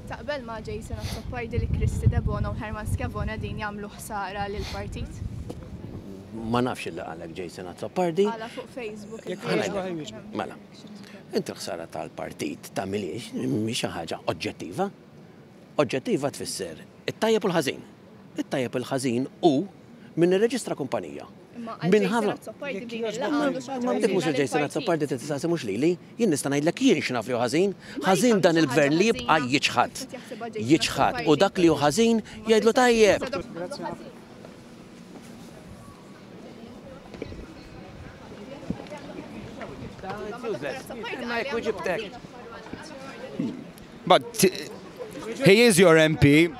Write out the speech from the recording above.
Taqbel ma' Jason Azzopardi li Kristy Debono u Herman Schiavone qegħdin jagħmlu ħsara lill-partit? Ma nafx illi qalek Jason Azzopardi. Qala fuq Facebook. Mela, inti l-ħsara tal-partit tagħmilhiex mhix xi ħaġa oġġettiva. Oġġettiva tfisser it-tajjeb u l-ħażin. It-tajjeb u l-ħażin hu min irreġistra kumpanija. Imma għal Jason Azzopardi din il-laqgħa għandu xi ħaġa Ma dik mhux il-Jason Azzopardi trid tistaqsi mhux lili. Jien nista' ngħidlek jien x'naf li hu ħażin. Ħażin dan il-gvern li jibqa' jiċħad. Jiċħad u dak li hu ħażin jgħidlu tajjeb. But he is your MP.